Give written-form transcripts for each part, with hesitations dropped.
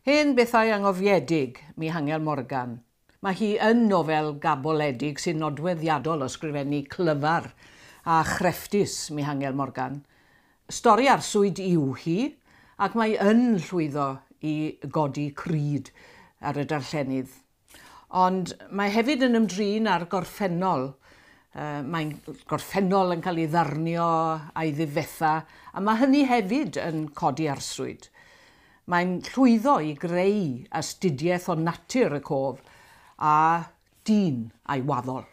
Hen bethau angofiedig, Mihangel Morgan. Mae hi yn nofel gaboledig sy'n nodweddiadol o sgrifennu clyfar a chrefftus Mihangel Morgan. Stori arswyd yw hi, ac mae yn llwyddo i godi cryd ar y darllenydd. Ond mae hefyd yn ymdrin â'r gorffennol. Mae'n gorffennol yn cael ei ddarnio a'i ddifetha, a mae hynny hefyd yn codi arswyd. Mae'n llwyddo i greu astudiaeth o natur y cof a dyn a'i waddol.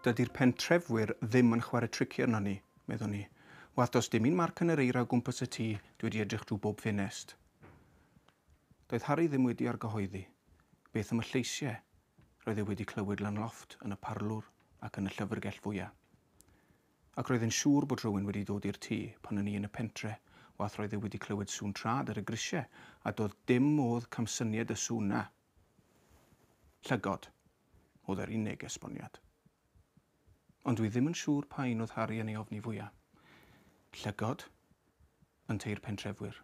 Dydy'r pentrefwyr ddim yn chwarae tricio arnon ni, meddwn i. Wath does dim un marc yn yr eira o gwmpas y tŷ, dwi wedi edrych drwy bob ffenest. Doedd Harri ddim wedi argyhoeddi. Beth am y lleisiau? Roedd e wedi clywed lan lofft yn y parlwr ac yn y llyfrgell fwya. Ac roedd e'n siŵr bod rhywun wedi dod i'r tŷ pan o'n i yn y pentre, wath roedd e wedi clywed sŵn trad ar y grisiau, a doedd dim modd camsyniad y sŵn 'na. Llygod oedd yr unig esboniad. Ond dwi ddim yn siŵr pa un oedd Harri yn ei ofni fwya. Llygod ynteu'r pentrefwyr.